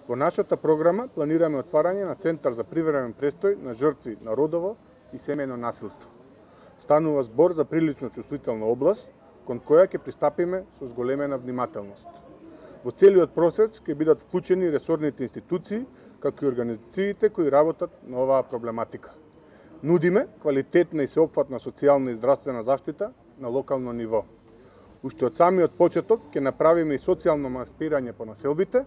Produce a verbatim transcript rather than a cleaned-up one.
Во нашата програма планираме отварање на Центар за привремен престој на жртви на родово и семејно насилство. Станува збор за прилично чувствителна област, кон која ќе пристапиме со зголемена внимателност. Во целиот процес ќе бидат вклучени ресорните институции, како и организациите кои работат на оваа проблематика. Нудиме квалитетна и сеопфатна социјална и здравствена заштита на локално ниво. Уште од самиот почеток ќе направиме и социјално маспирање по населбите,